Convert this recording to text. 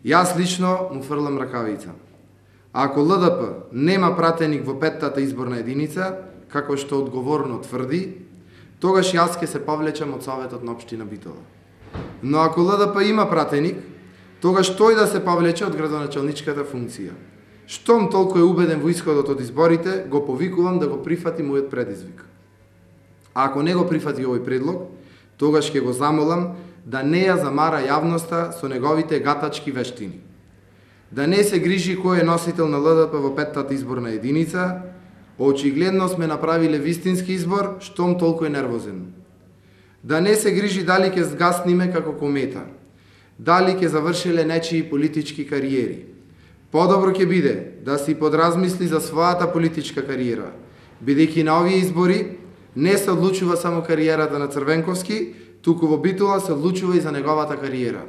Јас лично му фрлам ракавица. Ако ЛДП нема пратеник во 5-тата изборна единица, како што одговорно тврди, тогаш јас ќе се повлечам од Советот на општина Битола. Но ако ЛДП има пратеник, тогаш тој да се повлече од градоначалничката функција. Штом толку е убеден во исходот од изборите, го повикувам да го прифати мојот предизвик. А ако не го прифати овој предлог, тогаш ќе го замолам да не ја замара јавноста со неговите гатачки вештини. Да не се грижи кој е носител на ЛДП во 5-тата изборна единица, очигледно сме направиле вистински избор, штом толку е нервозен. Да не се грижи дали ќе згасниме како комета, дали ќе завршиле нечии политички кариери. Подобро ќе биде да си подразмисли за својата политичка кариера, бидејќи на овие избори не се одлучува само кариерата на Црвенковски, туку во Битола се одлучува и за неговата кариера.